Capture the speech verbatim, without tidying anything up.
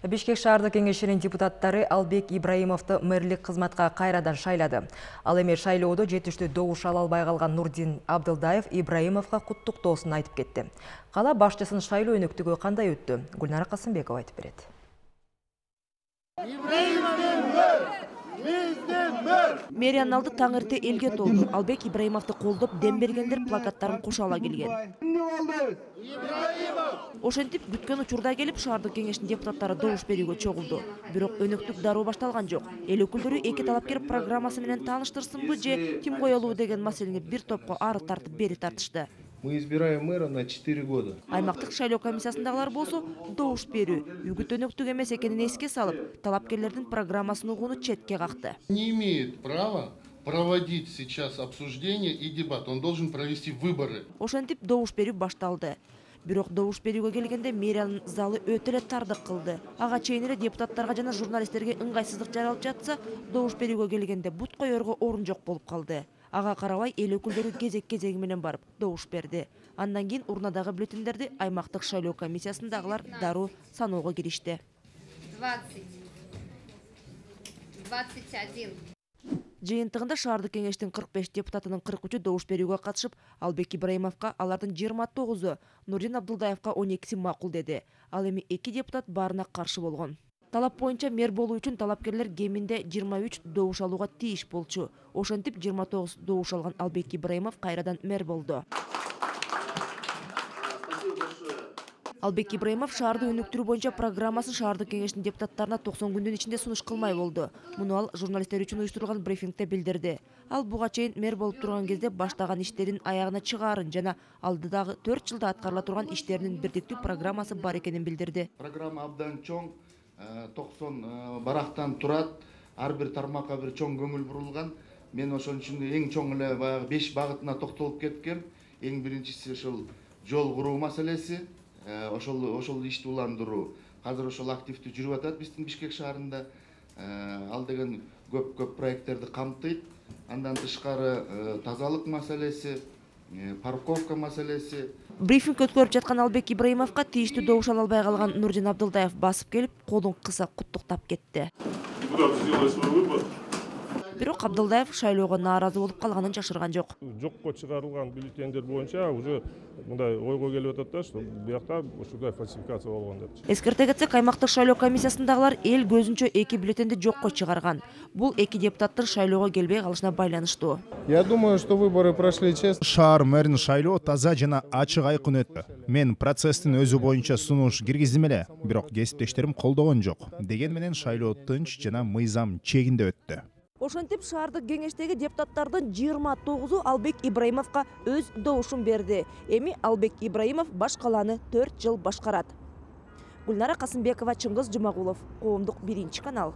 Бишкек шаардык кеңешинин депутаттары Албек Ибраимовду мэрлик кызматка кайрадан шайлады. Ал эми шайлоодо жетиштүү добуш ала албай калган Нурдин Абдылдаев Ибраимовго куттуктоосун айтып кетти. Кала башчысынын шайлоо өнөктүгү кандай өттү? Гүлнара Касымбекова айтып берет. Мэриянын алды таң эрте элге толду. Албек Ибраимовду колдоп дем бергендер плакаттарын кошо ала келген. Ошентип күткөн учурда келип шаардык кеңештин депутаттары добуш берүүгө чогулду. Бирок өнөктүк дароо башталган жок. Эл өкүлдөрү эки талапкер программасы менен тааныштырсынбы же ким коелуу деген маселени бир топко ары тартып бери тартышты. Мы избираем мэра на четыре года. Аймактык шайлоо комиссиясындагылар болсо добуш берүү үгүт өнөктүк эмес экенин эске салып, талапкерлердин программасын угууну четке какты. Не имеет права проводить сейчас обсуждение и дебат. Он должен провести выборы. Ошентип добуш берүү башталды. Бирок добуш берүүгө келгенде мэриянын залы өтө эле тардык кылды. Ага чейин эле депутаттарга жана журналисттерге ыңгайсыздык жаралып жатса, добуш берүүгө келгенде бут коерго орун жок болуп калды. Ага карабай эл өкүлдөрү кезек-кезеги менен барып добуш берди. Андан кийин урнадагы бюллетендерди аймактык шайлоо комиссиясындагылар дароо саноого киришти. двадцать, двадцать один. Жыйынтыгында шаардык кеңештин кырк беш депутатынын кырк үчү добуш берүүгө катышып, Албек Ибраимовго алардын жыйырма тогузу, Нурдин Абдылдаевга он экиси макул деди. Ал эми эки депутат баарына каршы болгон. Талап боюнча мэр болуу үчүн талапкерлер кеминде жыйырма үч добуш алууга тийиш болчу. Ошентип жыйырма тогуз добуш алган Албек Ибраимов кайрадан мэр болду. Албек Ибраимов шаарды өнүктүрүү боюнча программасын шаардык кеңештин депутаттарына токсон күндүн ичинде сунуш кылмай болду. Муну ал журналисттер үчүн уюштурулган брифингде билдирди. Ал буга чейин мэр болуп турган кезде баштаган иштерин аягына чыгаарын жана алдыдагы төрт жылда аткарыла турган иштеринин бирдиктүү программасы бар экенин билдирди. Программа абдан чоң, токсон барактан турат, ар бир тармакка бир чоң көңүл бурулган. Мен ошон үчүн эң чоң эле баягы беш багытына токтолуп кеткем. Эң биринчиси ошол жол куруу маселеси, ошол ошол ишти уландыруу. Азыр ошол активдүү жүрүп атат биздин Бишкек шаарында. Ал деген көп-көп проекттерди камтыйт. Андан тышкары тазалык маселеси, парковка маселеси. Брифинг өткөрүп жаткан Албек Ибраимовго тийиштүү добуш ала албай калган Нурдин Абдылдаев басып келип, колун кыса куттуктап кетти. Бирок Абдылдаев шайлоого нааразы болуп калганын жашырган жок. Жокко чыгарылган бюллетендер боюнча уже мындай ойго келип атат да, что буякта ушундай фальсификация болгон деп. Эскерте кетсек, аймактык шайлоо комиссиясындагылар эл көзүнчө эки бюллетенди жокко чыгарган. Бул эки депутаттын шайлоого келбей калышына байланыштуу. Я думаю, что выборы прошли честно. Шаар мэрин шайлоо таза жана ачык айкын өттү. Мен процесстин өзү боюнча сунуш киргиздим эле, бирок кесиптештерим колдогон жок. Деген менен шайлоо тынч жана мыйзам чегинде өттү. Ошентип шаардык кеңештеги депутаттардын жыйырма тогузу Албек Ибраимовго өз добушун берди. Эми Албек Ибраимов баш калааны төрт жыл башкарат. Гүлнара Касымбекова, Чыңгыз Жумагулов, Коомдук биринчи канал.